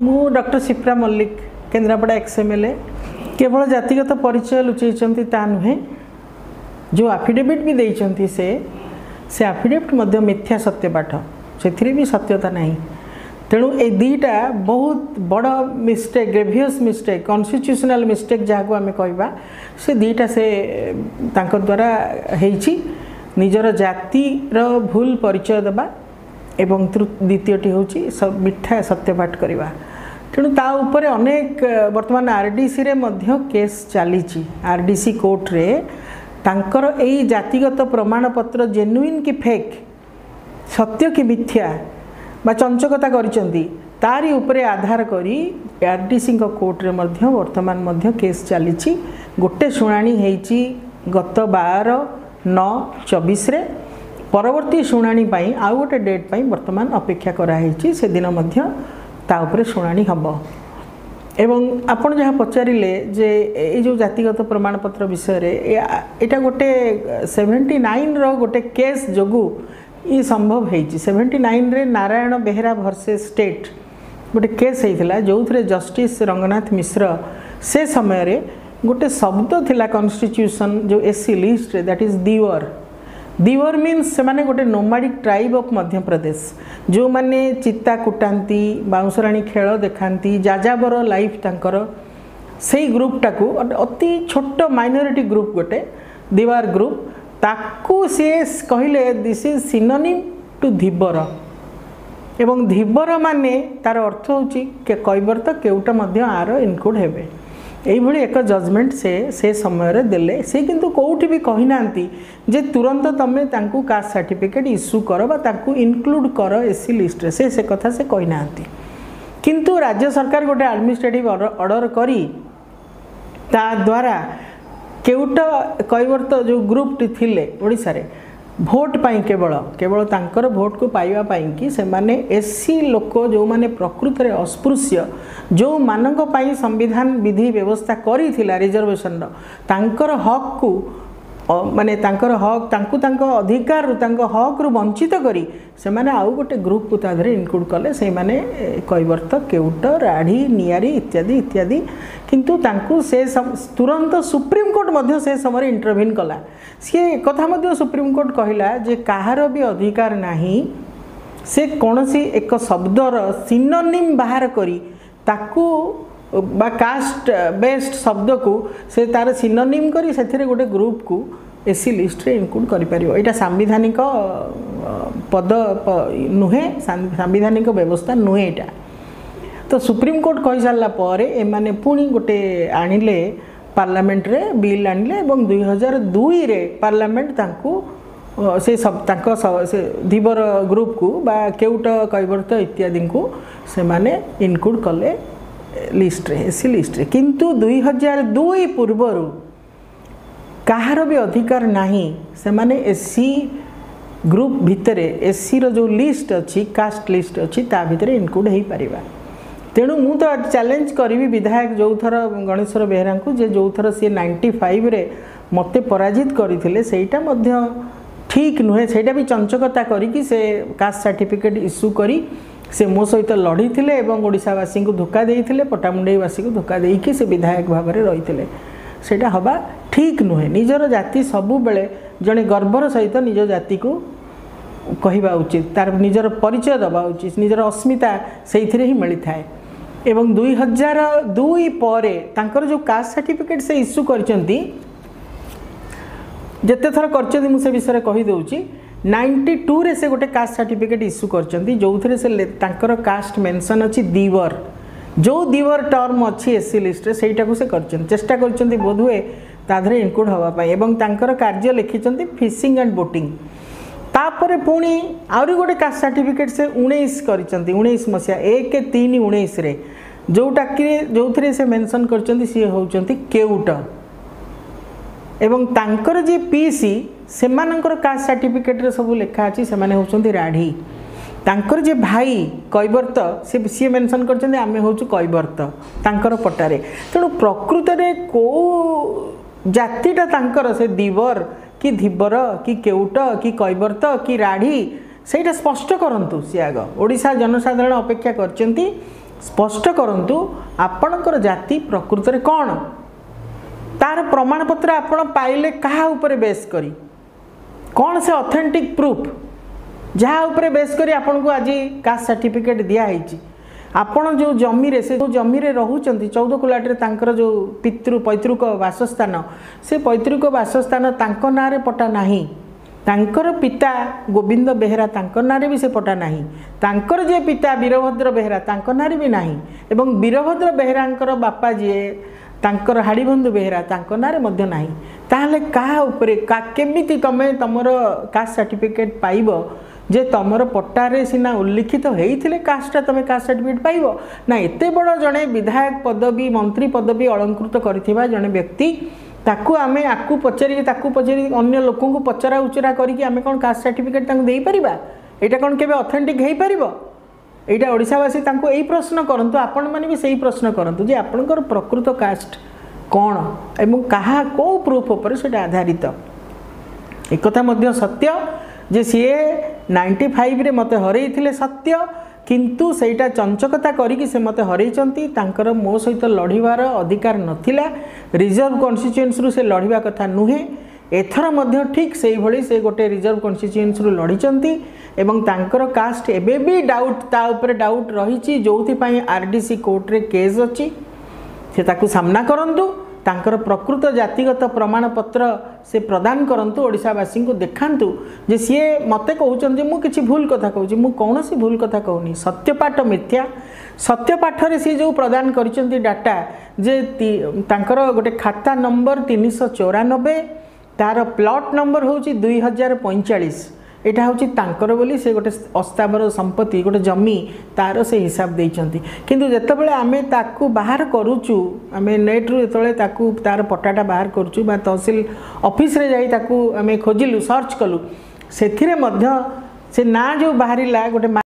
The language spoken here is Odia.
ମୁଁ doctor Sipra Mallick, Kendrapara ex MLA. କେବଳ ଜାତିଗତ ପରିଚୟ ଲୁଚେଇଛନ୍ତି ତା ନୁହେଁ, ଯେଉଁ ଆଫିଡେଭିଟ୍ ବି ଦେଇଛନ୍ତି ସେ ଆଫିଡେଭିଟ୍ ମଧ୍ୟ ମିଥ୍ୟା ସତ୍ୟପାଠ, ସେଥିରେ ବି ସତ୍ୟତା ନାହିଁ। ତେଣୁ ଏଇ ଦୁଇଟା ବହୁତ ବଡ଼ ମିଷ୍ଟେକ୍, ଗ୍ରେଭିୟସ୍ ମିଷ୍ଟେକ୍, କନଷ୍ଟିଟ୍ୟୁସନାଲ୍ ମିଷ୍ଟେକ୍ ଯାହାକୁ ଆମେ କହିବା, ସେ ଦୁଇଟା ସେ ତାଙ୍କ ଦ୍ୱାରା ହେଇଛି। ନିଜର ଜାତିର ଭୁଲ ପରିଚୟ ଦେବା ଏବଂ ଦ୍ୱିତୀୟଟି ହେଉଛି ମିଥ୍ୟା ସତ୍ୟପାଠ କରିବା। ତେଣୁ ତା ଉପରେ ଅନେକ ବର୍ତ୍ତମାନ ଆରଡିସିରେ ମଧ୍ୟ କେସ୍ ଚାଲିଛି। ଆରଡିସି କୋର୍ଟରେ ତାଙ୍କର ଏଇ ଜାତିଗତ ପ୍ରମାଣପତ୍ର ଜେନୁଇନ୍ କି ଫେକ୍, ସତ୍ୟ କି ମିଥ୍ୟା ବା ଚଞ୍ଚକତା କରିଛନ୍ତି, ତାରି ଉପରେ ଆଧାର କରି ଆରଡିସିଙ୍କ କୋର୍ଟରେ ମଧ୍ୟ ବର୍ତ୍ତମାନ ମଧ୍ୟ କେସ୍ ଚାଲିଛି। ଗୋଟେ ଶୁଣାଣି ହେଇଛି ଗତ 12/9/24ରେ, ପରବର୍ତ୍ତୀ ଶୁଣାଣି ପାଇଁ ଆଉ ଗୋଟେ ଡେଟ୍ ପାଇଁ ବର୍ତ୍ତମାନ ଅପେକ୍ଷା କରାହେଇଛି, ସେଦିନ ମଧ୍ୟ ତା ଉପରେ ଶୁଣାଣି ହେବ। ଏବଂ ଆପଣ ଯାହା ପଚାରିଲେ ଯେ ଏଇ ଯେଉଁ ଜାତିଗତ ପ୍ରମାଣପତ୍ର ବିଷୟରେ, ଏଇଟା ଗୋଟେ 79ର ଗୋଟେ କେସ୍ ଯୋଗୁଁ ଇଏ ସମ୍ଭବ ହେଇଛି। 79ରେ ନାରାୟଣ ବେହେରା ଭର୍ସେସ୍ ଷ୍ଟେଟ୍ ଗୋଟେ କେସ୍ ହେଇଥିଲା, ଯେଉଁଥିରେ ଜଷ୍ଟିସ୍ ରଙ୍ଗନାଥ ମିଶ୍ର ସେ ସମୟରେ ଗୋଟେ ଶବ୍ଦ ଥିଲା କନଷ୍ଟିଟ୍ୟୁସନ୍ ଯେଉଁ ଏସ୍ ସି ଲିଷ୍ଟରେ, that is ଦିୱର। ଦିୱର ମିନ୍ସ ସେମାନେ ଗୋଟେ ନୋମାଡ଼ିକ୍ ଟ୍ରାଇବ୍ ଅଫ୍ ମଧ୍ୟପ୍ରଦେଶ, ଯେଉଁମାନେ ଚିତା କୁଟାନ୍ତି, ବାଉଁଶରାଣୀ ଖେଳ ଦେଖାନ୍ତି, ଯାଯାବର ଲାଇଫ୍ ତାଙ୍କର। ସେଇ ଗ୍ରୁପ୍ଟାକୁ ଅତି ଛୋଟ ମାଇନରିଟି ଗ୍ରୁପ୍ ଗୋଟେ ଦିୱାର ଗ୍ରୁପ୍, ତାକୁ ସିଏ କହିଲେ this is synonym two ଧୀବର। ଏବଂ ଧୀବର ମାନେ ତାର ଅର୍ଥ ହେଉଛି କୈବର୍ତ୍ତ, କେଉଟ ମଧ୍ୟ ଆର ଇନକ୍ଲୁଡ଼ ହେବେ। ଏଇଭଳି ଏକ ଜଜମେଣ୍ଟ ସେ ସମୟରେ ଦେଲେ। ସେ କିନ୍ତୁ କେଉଁଠି ବି କହିନାହାନ୍ତି ଯେ ତୁରନ୍ତ ତୁମେ ତାଙ୍କୁ କାଷ୍ଟ ସାର୍ଟିଫିକେଟ୍ ଇସ୍ୟୁ କର ବା ତାଙ୍କୁ ଇନକ୍ଲୁଡ଼ କର ଏସ୍ ସି ଲିଷ୍ଟରେ, ସେ କଥା ସେ କହିନାହାନ୍ତି। କିନ୍ତୁ ରାଜ୍ୟ ସରକାର ଗୋଟେ ଆଡ଼ମିନିଷ୍ଟ୍ରେଟିଭ୍ ଅର୍ଡ଼ର କରି ତା ଦ୍ୱାରା କେଉଟ କୈବର୍ତ୍ତ ଯେଉଁ ଗ୍ରୁପଟି ଥିଲେ ଓଡ଼ିଶାରେ ଭୋଟ ପାଇଁ, କେବଳ ତାଙ୍କର ଭୋଟକୁ ପାଇବା ପାଇଁକି ସେମାନେ ଏସ୍ ସି ଲୋକ ଯେଉଁମାନେ ପ୍ରକୃତରେ ଅସ୍ପୃଶ୍ୟ, ଯେଉଁମାନଙ୍କ ପାଇଁ ସମ୍ବିଧାନ ବିଧି ବ୍ୟବସ୍ଥା କରିଥିଲା ରିଜର୍ଭେସନର, ତାଙ୍କର ହକ୍କୁ ମାନେ ତାଙ୍କର ହକ୍, ତାଙ୍କୁ ତାଙ୍କ ଅଧିକାରରୁ ତାଙ୍କ ହକ୍ରୁ ବଞ୍ଚିତ କରି ସେମାନେ ଆଉ ଗୋଟେ ଗ୍ରୁପକୁ ତା ଦେହରେ ଇନକ୍ଲୁଡ଼ କଲେ। ସେଇମାନେ କୈବର୍ତ୍ତ, କେଉଟ, ରାଢ଼ୀ, ନିଆରି ଇତ୍ୟାଦି ଇତ୍ୟାଦି। କିନ୍ତୁ ତାଙ୍କୁ ସେ ତୁରନ୍ତ ସୁପ୍ରିମକୋର୍ଟ ମଧ୍ୟ ସେ ସମୟରେ ଇଣ୍ଟରଭିନ୍ କଲା। ସିଏ ଏକଥା ମଧ୍ୟ ସୁପ୍ରିମକୋର୍ଟ କହିଲା ଯେ କାହାର ବି ଅଧିକାର ନାହିଁ ସେ କୌଣସି ଏକ ଶବ୍ଦର ସିନୋନିମ୍ ବାହାର କରି ତାକୁ ବା କାଷ୍ଟ ବେସ୍ଡ ଶବ୍ଦକୁ ସେ ତାର ସିନୋନିମ୍ କରି ସେଥିରେ ଗୋଟେ ଗ୍ରୁପକୁ ଏସ୍ ସି ଲିଷ୍ଟରେ ଇନକ୍ଲୁଡ଼ କରିପାରିବ। ଏଇଟା ସାମ୍ବିଧାନିକ ପଦ ନୁହେଁ, ସାମ୍ବିଧାନିକ ବ୍ୟବସ୍ଥା ନୁହେଁ ଏଇଟା। ତ ସୁପ୍ରିମକୋର୍ଟ କହିସାରିଲା ପରେ ଏମାନେ ପୁଣି ଗୋଟେ ଆଣିଲେ ପାର୍ଲାମେଣ୍ଟରେ ବିଲ୍ ଆଣିଲେ ଏବଂ 2002ରେ ପାର୍ଲାମେଣ୍ଟ ତାଙ୍କୁ ସେ ତାଙ୍କ ସେ ଧୀବର ଗ୍ରୁପକୁ ବା କେଉଟ, କୈବର୍ତ୍ତ ଇତ୍ୟାଦିଙ୍କୁ ସେମାନେ ଇନକ୍ଲୁଡ଼ କଲେ ଲିଷ୍ଟରେ, ଏସ୍ ସି ଲିଷ୍ଟରେ। କିନ୍ତୁ 2002 ପୂର୍ବରୁ କାହାର ବି ଅଧିକାର ନାହିଁ ସେମାନେ ଏସ୍ ସି ଗ୍ରୁପ୍ ଭିତରେ, ଏସ୍ ସିର ଯେଉଁ ଲିଷ୍ଟ ଅଛି, କାଷ୍ଟ ଲିଷ୍ଟ ଅଛି, ତା ଭିତରେ ଇନକ୍ଲୁଡ଼ ହେଇପାରିବା। ତେଣୁ ମୁଁ ତ ଚ୍ୟାଲେଞ୍ଜ କରିବି ବିଧାୟକ ଯେଉଁଥର ଗଣେଶ୍ୱର ବେହେରାଙ୍କୁ, ଯେ ଯେଉଁଥର ସିଏ 95ରେ ମୋତେ ପରାଜିତ କରିଥିଲେ ସେଇଟା ମଧ୍ୟ ଠିକ୍ ନୁହେଁ, ସେଇଟା ବି ଚଞ୍ଚକତା କରିକି ସେ କାଷ୍ଟ ସାର୍ଟିଫିକେଟ୍ ଇସ୍ୟୁ କରି ସେ ମୋ ସହିତ ଲଢ଼ିଥିଲେ ଏବଂ ଓଡ଼ିଶାବାସୀଙ୍କୁ ଧୋକା ଦେଇଥିଲେ, ପଟ୍ଟାମୁଣ୍ଡେଇବାସୀଙ୍କୁ ଧୋକା ଦେଇକି ସେ ବିଧାୟକ ଭାବରେ ରହିଥିଲେ। ସେଇଟା ହେବା ଠିକ୍ ନୁହେଁ। ନିଜର ଜାତି ସବୁବେଳେ ଜଣେ ଗର୍ବର ସହିତ ନିଜ ଜାତିକୁ କହିବା ଉଚିତ, ତାର ନିଜର ପରିଚୟ ଦେବା ଉଚିତ, ନିଜର ଅସ୍ମିତା ସେଇଥିରେ ହିଁ ମିଳିଥାଏ। ଏବଂ 2002 ପରେ ତାଙ୍କର ଯେଉଁ କାଷ୍ଟ ସାର୍ଟିଫିକେଟ୍ ସେ ଇସ୍ୟୁ କରିଛନ୍ତି, ଯେତେ ଥର କରିଛନ୍ତି ମୁଁ ସେ ବିଷୟରେ କହିଦେଉଛି। 92ରେ ସେ ଗୋଟେ କାଷ୍ଟ ସାର୍ଟିଫିକେଟ୍ ଇସ୍ୟୁ କରିଛନ୍ତି ଯେଉଁଥିରେ ସେ ତାଙ୍କର କାଷ୍ଟ ମେନସନ୍ ଅଛି ଦିୱର, ଯେଉଁ ଦିୱର ଟର୍ମ ଅଛି ଏସ୍ ସି ଲିଷ୍ଟରେ ସେଇଟାକୁ ସେ କରିଛନ୍ତି, ଚେଷ୍ଟା କରିଛନ୍ତି ବୋଧହୁଏ ତା ଦେହରେ ଇନକ୍ଲୁଡ଼ ହେବା ପାଇଁ। ଏବଂ ତାଙ୍କର କାର୍ଯ୍ୟ ଲେଖିଛନ୍ତି ଫିସିଂ ଆଣ୍ଡ ବୋଟିଂ। ତାପରେ ପୁଣି ଆହୁରି ଗୋଟେ କାଷ୍ଟ ସାର୍ଟିଫିକେଟ୍ ସେ 19 କରିଛନ୍ତି, 19 ମସିହା 1/3/19ରେ, ଯେଉଁଟାକି ଯେଉଁଥିରେ ସେ ମେନସନ୍ କରିଛନ୍ତି ସିଏ ହେଉଛନ୍ତି କେଉଟ। ଏବଂ ତାଙ୍କର ଯିଏ ପିସି ସେମାନଙ୍କର କାଷ୍ଟ ସାର୍ଟିଫିକେଟ୍ରେ ସବୁ ଲେଖା ଅଛି ସେମାନେ ହେଉଛନ୍ତି ରାଢ଼ୀ। ତାଙ୍କର ଯେ ଭାଇ କୈବର୍ତ୍ତ ସିଏ ମେନସନ୍ କରିଛନ୍ତି ଆମେ ହେଉଛୁ କୈବର୍ତ୍ତ ତାଙ୍କର ପଟ୍ଟାରେ। ତେଣୁ ପ୍ରକୃତରେ କେଉଁ ଜାତିଟା ତାଙ୍କର, ସେ ଦିବର କି ଧୀବର କି କେଉଟ କି କୈବର୍ତ୍ତ କି ରାଢ଼ୀ, ସେଇଟା ସ୍ପଷ୍ଟ କରନ୍ତୁ ସିଏ ଆଗ। ଓଡ଼ିଶା ଜନସାଧାରଣ ଅପେକ୍ଷା କରିଛନ୍ତି ସ୍ପଷ୍ଟ କରନ୍ତୁ ଆପଣଙ୍କର ଜାତି ପ୍ରକୃତରେ କ'ଣ, ତାର ପ୍ରମାଣପତ୍ର ଆପଣ ପାଇଲେ କାହା ଉପରେ ବେସ୍ କରି, କ'ଣ ସେ ଅଥେଣ୍ଟିକ୍ ପ୍ରୁଫ୍ ଯାହା ଉପରେ ବେସ୍ କରି ଆପଣଙ୍କୁ ଆଜି କାଷ୍ଟ ସାର୍ଟିଫିକେଟ୍ ଦିଆହେଇଛି। ଆପଣ ଯେଉଁ ଜମିରେ, ସେ ଯେଉଁ ଜମିରେ ରହୁଛନ୍ତି 14 କୁଲାଟରେ, ତାଙ୍କର ଯେଉଁ ପୈତୃକ ବାସସ୍ଥାନ, ସେ ପୈତୃକ ବାସସ୍ଥାନ ତାଙ୍କ ନାଁରେ ପଟା ନାହିଁ। ତାଙ୍କର ପିତା ଗୋବିନ୍ଦ ବେହେରା, ତାଙ୍କ ନାଁରେ ବି ସେ ପଟା ନାହିଁ। ତାଙ୍କର ଯିଏ ପିତା ବୀରଭଦ୍ର ବେହେରା, ତାଙ୍କ ନାଁରେ ବି ନାହିଁ। ଏବଂ ବୀରଭଦ୍ର ବେହେରାଙ୍କର ବାପା ଯିଏ, ତାଙ୍କର ହାଡ଼ିବନ୍ଧୁ ବେହେରା, ତାଙ୍କ ନାଁରେ ମଧ୍ୟ ନାହିଁ। ତାହେଲେ କାହା ଉପରେ କେମିତି ତୁମେ ତୁମର କାଷ୍ଟ ସାର୍ଟିଫିକେଟ୍ ପାଇବ? ଯେ ତୁମର ପଟ୍ଟାରେ ସିନା ଉଲ୍ଲିଖିତ ହେଇଥିଲେ କାଷ୍ଟଟା ତୁମେ କାଷ୍ଟ ସାର୍ଟିଫିକେଟ୍ ପାଇବ ନା। ଏତେ ବଡ଼ ଜଣେ ବିଧାୟକ ପଦବୀ, ମନ୍ତ୍ରୀ ପଦବୀ ଅଳଙ୍କୃତ କରିଥିବା ଜଣେ ବ୍ୟକ୍ତି, ତାକୁ ଆମେ ଆକୁ ପଚାରିକି ତାକୁ ପଚାରିକି ଅନ୍ୟ ଲୋକଙ୍କୁ ପଚରା ଉଚରା କରିକି ଆମେ କ'ଣ କାଷ୍ଟ ସାର୍ଟିଫିକେଟ୍ ତାଙ୍କୁ ଦେଇପାରିବା? ଏଇଟା କ'ଣ କେବେ ଅଥେଣ୍ଟିକ୍ ହେଇପାରିବ? ଏଇଟା ଓଡ଼ିଶାବାସୀ ତାଙ୍କୁ ଏଇ ପ୍ରଶ୍ନ କରନ୍ତୁ, ଆପଣମାନେ ବି ସେଇ ପ୍ରଶ୍ନ କରନ୍ତୁ ଯେ ଆପଣଙ୍କର ପ୍ରକୃତ କାଷ୍ଟ କ'ଣ ଏବଂ କାହା କେଉଁ ପ୍ରୁଫ୍ ଉପରେ ସେଇଟା ଆଧାରିତ। ଏକଥା ମଧ୍ୟ ସତ୍ୟ ଯେ ସିଏ 95ରେ ମୋତେ ହରେଇଥିଲେ ସତ୍ୟ, କିନ୍ତୁ ସେଇଟା ଚଞ୍ଚକତା କରିକି ସେ ମୋତେ ହରେଇଛନ୍ତି। ତାଙ୍କର ମୋ ସହିତ ଲଢ଼ିବାର ଅଧିକାର ନଥିଲା, ରିଜର୍ଭ କନଷ୍ଟିଚ୍ୟୁଏନ୍ସିରୁ ସେ ଲଢ଼ିବା କଥା ନୁହେଁ। ଏଥର ମଧ୍ୟ ଠିକ୍ ସେଇଭଳି ସେ ଗୋଟେ ରିଜର୍ଭ କନଷ୍ଟିଚ୍ୟୁଏନ୍ସିରୁ ଲଢ଼ିଛନ୍ତି ଏବଂ ତାଙ୍କର କାଷ୍ଟ ଏବେ ବି ଡାଉଟ୍, ତା ଉପରେ ଡାଉଟ୍ ରହିଛି, ଯେଉଁଥିପାଇଁ ଆର୍ ଡି ସି କୋର୍ଟରେ କେସ୍ ଅଛି। ସେ ତାକୁ ସାମ୍ନା କରନ୍ତୁ, ତାଙ୍କର ପ୍ରକୃତ ଜାତିଗତ ପ୍ରମାଣପତ୍ର ସେ ପ୍ରଦାନ କରନ୍ତୁ, ଓଡ଼ିଶାବାସୀଙ୍କୁ ଦେଖାନ୍ତୁ ଯେ ସିଏ ମୋତେ କହୁଛନ୍ତି ଯେ ମୁଁ କିଛି ଭୁଲ କଥା କହୁଛି। ମୁଁ କୌଣସି ଭୁଲ କଥା କହୁନି। ସତ୍ୟପାଠ ମିଥ୍ୟା। ସତ୍ୟପାଠରେ ସିଏ ଯେଉଁ ପ୍ରଦାନ କରିଛନ୍ତି ଡାଟା ଯେ ତାଙ୍କର ଗୋଟେ ଖାତା ନମ୍ବର 394, ତାର ପ୍ଲଟ୍ ନମ୍ବର ହେଉଛି 2045, ଏଇଟା ହେଉଛି ତାଙ୍କର ବୋଲି ସେ ଗୋଟେ ଅସ୍ଥାବର ସମ୍ପତ୍ତି, ଗୋଟେ ଜମି, ତାର ସେ ହିସାବ ଦେଇଛନ୍ତି। କିନ୍ତୁ ଯେତେବେଳେ ଆମେ ତାକୁ ବାହାର କରୁଛୁ, ଆମେ ନେଟ୍ରୁ ଯେତେବେଳେ ତାକୁ ତାର ପଟ୍ଟାଟା ବାହାର କରୁଛୁ ବା ତହସିଲ ଅଫିସରେ ଯାଇ ତାକୁ ଆମେ ଖୋଜିଲୁ, ସର୍ଚ୍ଚ କଲୁ, ସେଥିରେ ମଧ୍ୟ ସେ ନାଁ ଯେଉଁ ବାହାରିଲା ଗୋଟେ